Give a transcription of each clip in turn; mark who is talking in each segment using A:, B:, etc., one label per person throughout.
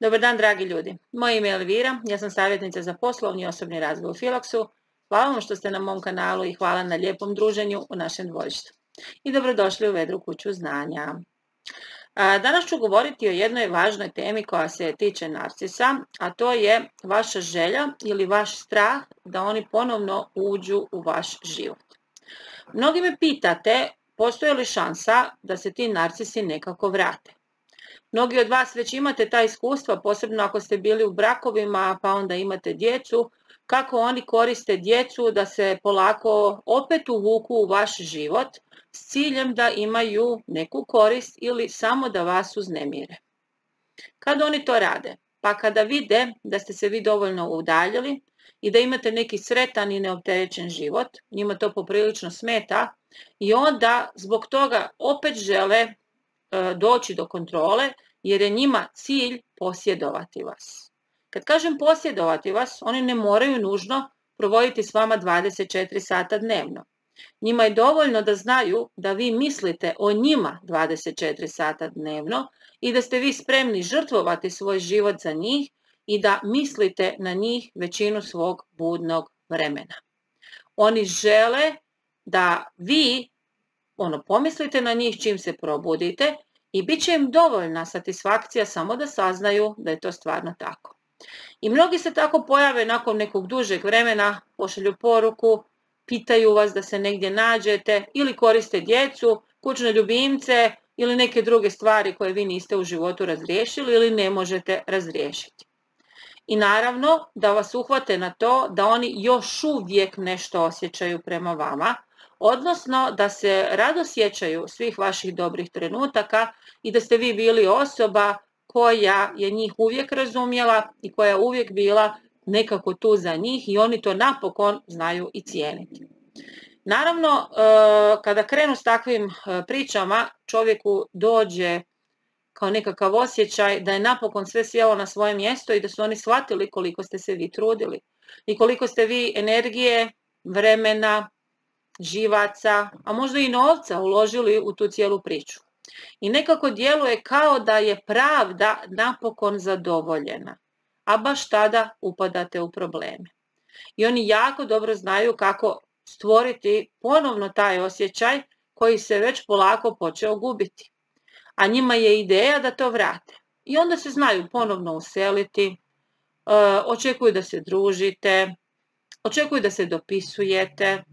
A: Dobar dan, dragi ljudi. Moje ime je Elvira, ja sam savjetnica za poslovni i osobni razvoj u Filoksu. Hvala vam što ste na mom kanalu i hvala na lijepom druženju u našem dvorištu. I dobrodošli u Vedru kuću znanja. Danas ću govoriti o jednoj važnoj temi koja se tiče narcisa, a to je vaša želja ili vaš strah da oni ponovno uđu u vaš život. Mnogi me pitate, postoji li šansa da se ti narcisi nekako vrate? Mnogi od vas već imate ta iskustva, posebno ako ste bili u brakovima pa onda imate djecu, kako oni koriste djecu da se polako opet uvuku u vaš život s ciljem da imaju neku korist ili samo da vas uznemire. Kad oni to rade? Pa kada vide da ste se vi dovoljno udaljili i da imate neki sretan i neopterećen život, njima to poprilično smeta i onda zbog toga opet žele doći do kontrole jer je njima cilj posjedovati vas. Kad kažem posjedovati vas, oni ne moraju nužno provoditi s vama 24 sata dnevno. Njima je dovoljno da znaju da vi mislite o njima 24 sata dnevno i da ste vi spremni žrtvovati svoj život za njih i da mislite na njih većinu svog budnog vremena. Oni žele da vi pomislite na njih čim se probudite i bit će im dovoljna satisfakcija samo da saznaju da je to stvarno tako. I mnogi se tako pojave nakon nekog dužeg vremena, pošalju poruku, pitaju vas da se negdje nađete ili koriste djecu, kućne ljubimce ili neke druge stvari koje vi niste u životu razriješili ili ne možete razriješiti. I naravno da vas uhvate na to da oni još uvijek nešto osjećaju prema vama, odnosno da se rado sjećaju svih vaših dobrih trenutaka i da ste vi bili osoba koja je njih uvijek razumjela i koja je uvijek bila nekako tu za njih i oni to napokon znaju i cijeniti. Naravno, kada krenu s takvim pričama, čovjeku dođe kao nekakav osjećaj da je napokon sve sjelo na svoje mjesto i da su oni shvatili koliko ste se vi trudili i koliko ste vi energije, vremena, živaca, a možda i novca uložili u tu cijelu priču. I nekako djeluje kao da je pravda napokon zadovoljena, a baš tada upadate u probleme. I oni jako dobro znaju kako stvoriti ponovno taj osjećaj koji se već polako počeo gubiti. A njima je ideja da to vrate. I onda se znaju ponovno useliti, očekuju da se družite, očekuju da se dopisujete,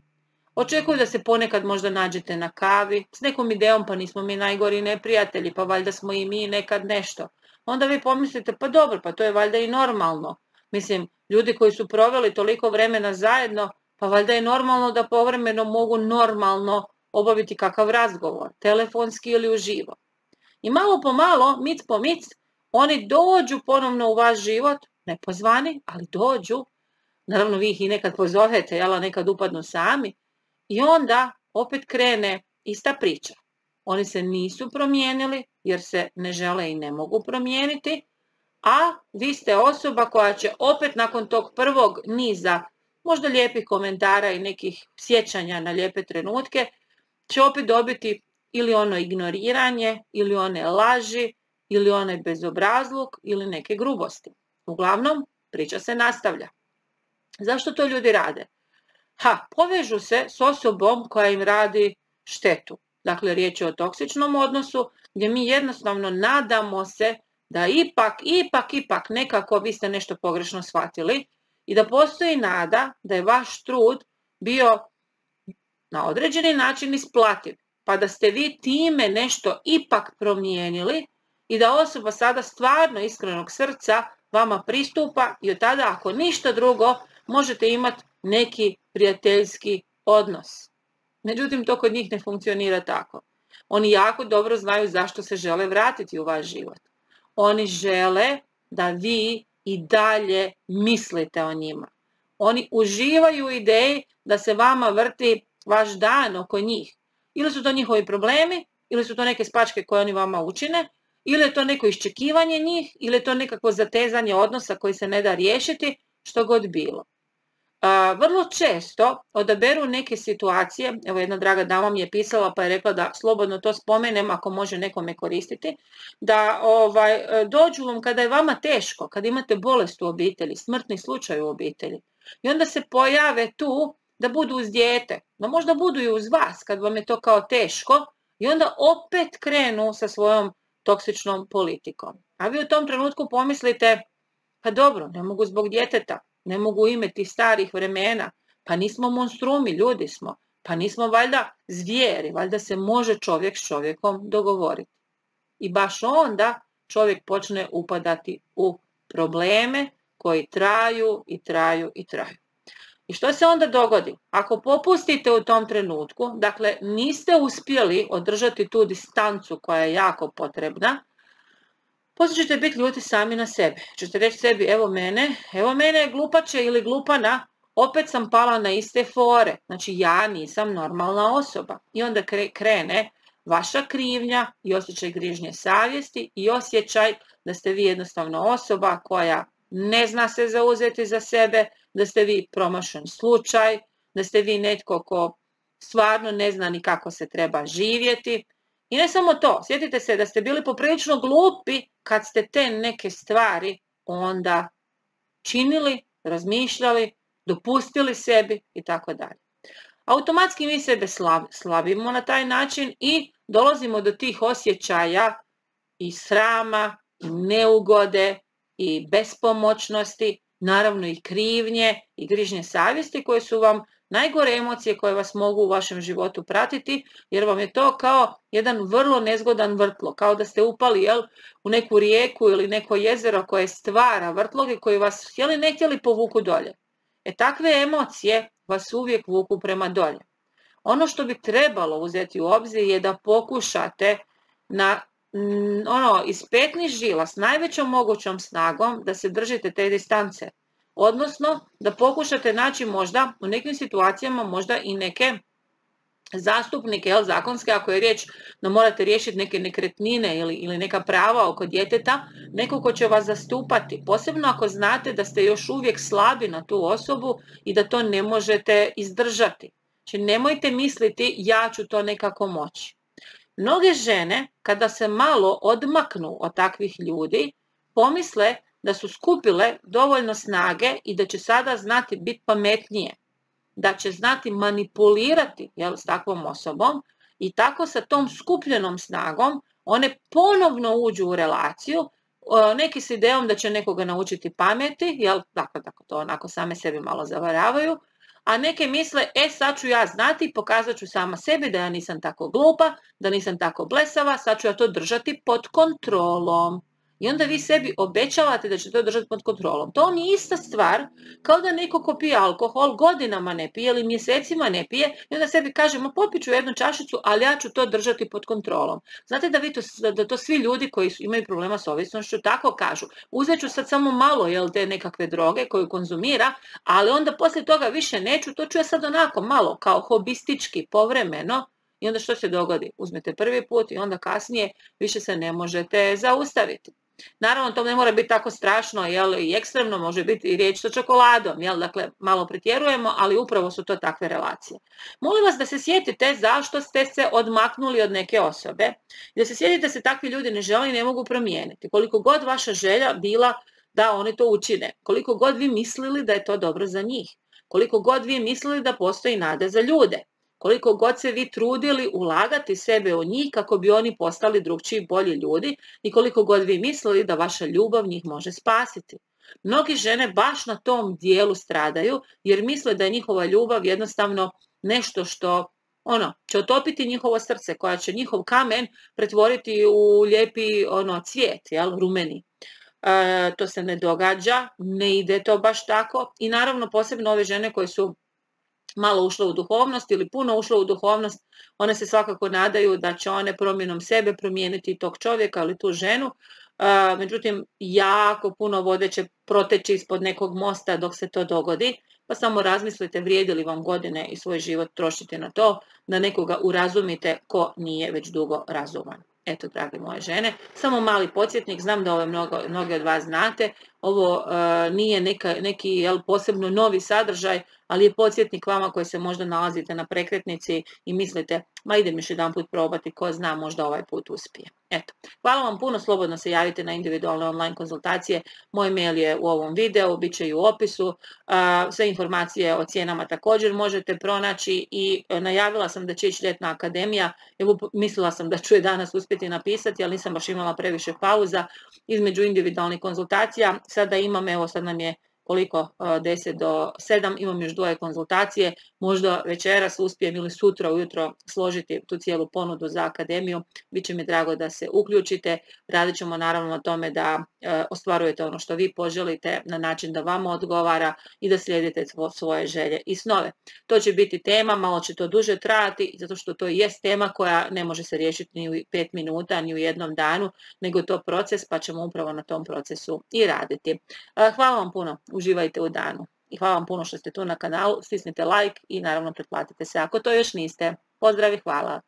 A: očekuju da se ponekad možda nađete na kavi s nekom idejom, pa nismo mi najgori neprijatelji, pa valjda smo i mi nekad nešto. Onda vi pomislite, pa dobro, pa to je valjda i normalno. Mislim, ljudi koji su proveli toliko vremena zajedno, pa valjda je normalno da povremeno mogu normalno obaviti kakav razgovor, telefonski ili uživo. I malo po malo, mic po mic, oni dođu ponovno u vaš život, nepozvani, ali dođu. Naravno, vi ih i nekad pozovete, a nekad upadnu sami. I onda opet krene ista priča. Oni se nisu promijenili jer se ne žele i ne mogu promijeniti, a vi ste osoba koja će opet nakon tog prvog niza možda lijepih komentara i nekih sjećanja na lijepe trenutke će opet dobiti ili ono ignoriranje, ili one laži, ili onaj bezobrazluk, ili neke grubosti. Uglavnom, priča se nastavlja. Zašto to ljudi rade? Povežu se s osobom koja im radi štetu. Dakle, riječ je o toksičnom odnosu gdje mi jednostavno nadamo se da ipak nekako vi ste nešto pogrešno shvatili i da postoji nada da je vaš trud bio na određeni način isplativ, pa da ste vi time nešto ipak promijenili i da osoba sada stvarno iskrenog srca vama pristupa i od tada ako ništa drugo možete imati neki prijateljski odnos. Međutim, to kod njih ne funkcionira tako. Oni jako dobro znaju zašto se žele vratiti u vaš život. Oni žele da vi i dalje mislite o njima. Oni uživaju u ideji da se vama vrti vaš dan oko njih. Ili su to njihovi problemi, ili su to neke spačke koje oni vama učine, ili je to neko iščekivanje njih, ili je to nekakvo zatezanje odnosa koji se ne da riješiti, što god bilo. Vrlo često odaberu neke situacije, evo jedna draga dama mi je pisala pa je rekla da slobodno to spomenem ako može nekome koristiti, da dođu vam kada je vama teško, kada imate bolest u obitelji, smrtni slučaj u obitelji i onda se pojave tu da budu uz dijete, da možda budu i uz vas kad vam je to kao teško i onda opet krenu sa svojom toksičnom politikom. A vi u tom trenutku pomislite, pa dobro, ne mogu zbog djeteta, ne mogu ime tih starih vremena, pa nismo monstrumi, ljudi smo, pa nismo valjda zvijeri, valjda se može čovjek s čovjekom dogovoriti. I baš onda čovjek počne upadati u probleme koji traju i traju i traju. I što se onda dogodi? Ako popustite u tom trenutku, dakle niste uspjeli održati tu distancu koja je jako potrebna, poslije ćete biti ljuti sami na sebe. Ćete reći sebi, evo mene glupače ili glupana, opet sam pala na iste fore. Znači ja nisam normalna osoba. I onda krene vaša krivnja i osjećaj grižnje savjesti i osjećaj da ste vi jednostavno osoba koja ne zna se zauzeti za sebe, da ste vi promašen slučaj, da ste vi netko ko stvarno ne zna ni kako se treba živjeti. I ne samo to, sjetite se da ste bili poprilično glupi kad ste te neke stvari onda činili, razmišljali, dopustili sebi i tako dalje. Automatski mi sebe slabimo na taj način i dolazimo do tih osjećaja i srama, i neugode, i bespomoćnosti, naravno i krivnje i grižnje savjesti koje su vam najgore emocije koje vas mogu u vašem životu pratiti, jer vam je to kao jedan vrlo nezgodan vrtlog, kao da ste upali u neku rijeku ili neko jezero koje stvara vrtloge koji vas htjeli ne htjeli povuku dolje. Takve emocije vas uvijek vuku prema dolje. Ono što bi trebalo uzeti u obzir je da pokušate iz petnih žila s najvećom mogućom snagom da se držite te distance. Odnosno da pokušate naći možda u nekim situacijama možda i neke zastupnike zakonske, ako je riječ da morate riješiti neke nekretnine ili neka prava oko djeteta, neko ko će vas zastupati, posebno ako znate da ste još uvijek slabi na tu osobu i da to ne možete izdržati. Znači nemojte misliti ja ću to nekako moći. Mnoge žene kada se malo odmaknu od takvih ljudi pomisle da su skupile dovoljno snage i da će sada znati biti pametnije, da će znati manipulirati s takvom osobom i tako sa tom skupljenom snagom one ponovno uđu u relaciju, neki s idejom da će nekoga naučiti pameti, dakle to onako same sebi malo zavaravaju, a neke misle, sad ću ja znati, pokazat ću sama sebi da ja nisam tako glupa, da nisam tako blesava, sad ću ja to držati pod kontrolom. I onda vi sebi obećavate da će to držati pod kontrolom. To nije ista stvar kao da neko ko pije alkohol godinama ne pije ili mjesecima ne pije i onda sebi kaže, popit ću jednu čašicu, ali ja ću to držati pod kontrolom. Znate da to svi ljudi koji imaju problema s ovisnošću tako kažu. Uzet ću sad samo malo te nekakve droge koju konzumira, ali onda poslije toga više neću, to ću ja sad onako malo kao hobistički, povremeno. I onda što se dogodi? Uzmete prvi put i onda kasnije više se ne možete zaustaviti. Naravno, to ne mora biti tako strašno i ekstremno, može biti i riječ sa čokoladom, dakle malo pretjerujemo, ali upravo su to takve relacije. Molim vas da se sjetite zašto ste se odmaknuli od neke osobe i da se sjetite da se takvi ljudi ne žele i ne mogu promijeniti. Koliko god vaša želja bila da oni to učine, koliko god vi mislili da je to dobro za njih, koliko god vi mislili da postoji nada za ljude, koliko god se vi trudili ulagati sebe u njih kako bi oni postali drugčiji, bolji ljudi i koliko god vi mislili da vaša ljubav njih može spasiti. Mnogi žene baš na tom dijelu stradaju jer misle da je njihova ljubav jednostavno nešto što će otopiti njihovo srce, koja će njihov kamen pretvoriti u lijepi cvijet, rumeni. To se ne događa, ne ide to baš tako i naravno posebno ove žene koje su malo ušle u duhovnost ili puno ušle u duhovnost, one se svakako nadaju da će one promjenom sebe promijeniti tog čovjeka ili tu ženu. Međutim, jako puno vode će proteći ispod nekog mosta dok se to dogodi, pa samo razmislite vrijedi li vam godine i svoj život trošiti na to da nekoga urazumite ko nije već dugo razuman. Eto, dragi moje žene, samo mali podsjetnik, znam da mnogi od vas znate, ovo nije neki posebno novi sadržaj, ali je podsjetnik vama koji se možda nalazite na prekretnici i mislite, ma idem još jedan put probati, ko zna, možda ovaj put uspije. Eto, hvala vam puno, slobodno se javite na individualne online konzultacije. Moj mail je u ovom videu, bit će i u opisu. Sve informacije o cijenama također možete pronaći i najavila sam da će ići ljetna akademija. Evo, mislila sam da ću je danas uspjeti napisati, ali nisam baš imala previše pauza između individualnih konzultacija. Sada imam, evo sad nam je koliko, 10 do 7, imam još 2 konzultacije, možda večeras uspijem ili sutra ujutro složiti tu cijelu ponudu za akademiju. Biće mi drago da se uključite, radit ćemo naravno na tome da ostvarujete ono što vi poželite na način da vama odgovara i da slijedite svoje želje i snove. To će biti tema, malo će to duže trajati, zato što to jest tema koja ne može se riješiti ni u 5 minuta, ni u jednom danu, nego je to proces, pa ćemo upravo na tom procesu i raditi. Hvala vam puno, uživajte u danu i hvala vam puno što ste tu na kanalu, stisnite like i naravno pretplatite se ako to još niste. Pozdrav i hvala!